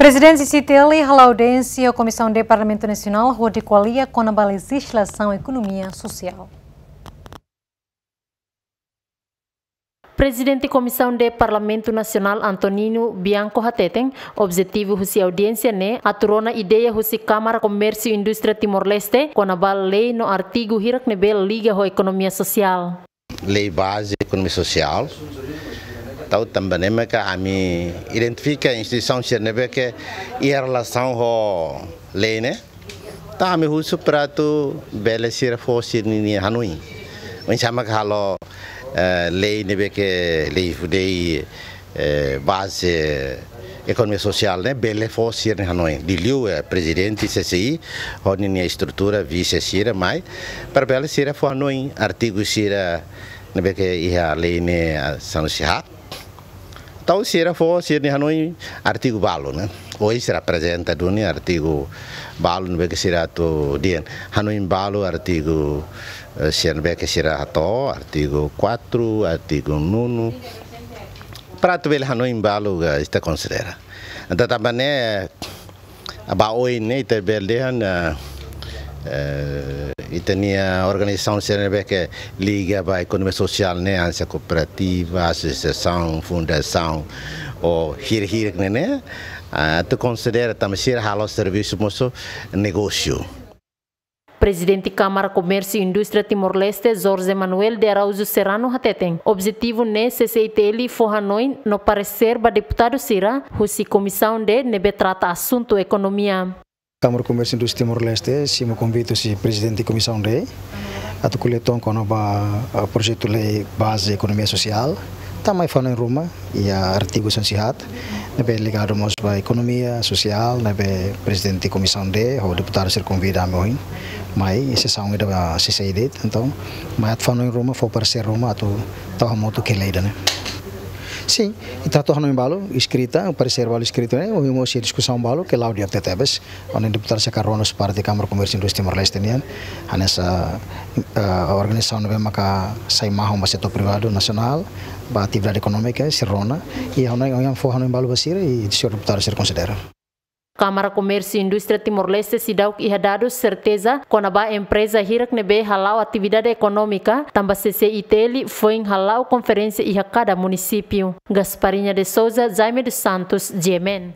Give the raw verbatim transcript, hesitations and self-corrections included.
Prezidente C C I T L hala'o audiénsia Komisaun D Parlamentu Nasionál hodi ko'alia kona-ba lejizlasaun ekonomia sosiál. Prezidente Komisaun D Parlamentu Nasionál Antonino Bianco hateten, objetivu husi audiénsia ne'e atu rona ideia husi Kámara Komérsiu Indústria Timor-Leste kona-ba lei no artigu hirak ne'ebé liga ho ekonomia sosiál. Lei baze ekonomia sosiál. Entaun tanba ne'e maka ami identifika instituisaun sira ne'ebé ke iha relasaun ho lei ne'e. Entaun ami husu para atu bele sira fó sira-nia hanoin. Oinsá mak halo, eh, lei ne'ebé ke lei fudei, eh, baze ekonomia sosiál ne'e bele fó sira-nia hanoin. Liuliu, eh, prezidente C C I, ho ninia estrutura, vise sira mai, para bele sira fó hanoin artigu sira ne'ebé ke iha lei ne'e, ah, sanulu-resin-haat. Entaun sira fó sira-nia hanoin artigu balu, ne'e. Ohin sira aprezenta duni artigu balu ne'ebé ke sira atu dehan. Hanoin balu artigu, eh, sira ne'ebé ke sira hato'o, artigu quatro, artigu nono. Para atu bele hanoin balu ka ita konsidera. Entaun tanba ne'e, ba oin ne'e ita bele dehan, eh, eh, ita-nia organizasaun sira ne'ebé ke liga ba ekonomia sosiál ne'e, hanesan kooperativa, asosiasaun, fundasaun, ou hirak-hirak ne'e, ne'e, ah, atu konsidera tanba sira halo servisu mós negósiu. Prezidente Kámara Komérsiu Indústria Timor-Leste, Jorge Manuel de Araújo Serrano hateten, objetivu ne'e C C I T L fó hanoin no paresér ba deputadu sira husi Komisaun D ne'ebé trata asuntu ekonomia. Kámara Komérsiu Indústria Timor-Leste simu konvite husi Prezidente Komisaun D atu ko'alia uitoan kona-ba, ah, projetu lei baze ekonomia sosiál. Ita mai fó hanoin ruma iha artigu sanulu-resin-haat ne'ebé ligadu mós ba ekonomia sosiál, ne'ebé Prezidente Komisaun D ho deputadu sira konvida ami ohin mai iha sesaun ida ba C C I D. Entaun mai atu fó hanoin ruma, fó paresér ruma atu tau hamutuk iha lei ida-ne'e. Sin, ita tau hanoin balu eskrita, paresér balu eskrita ne'e, ohin mós iha diskusaun balu ke la'o di'ak tebetebes. Ohin deputadu sira rona husi parte Kámara Komérsiu Indústria Timor-Leste nian, hanesan, eh, organizasaun ne'ebé maka sai mahon ba setór privadu nasionál, ba atividade ekonómika, sira rona, i hanoin, ohin fó hanoin balu ba sira, i señór deputadu sira konsidera. Kámara Komérsiu Indústria Timor-Leste seidauk iha dadus serteza kona-ba empreza hirak ne'ebé hala'o atividade ekonómika, tanba C C I T L foin hala'o konferénsia iha kada munisípiu. Gasparinha de Souza, Jaime dos Santos, G M N.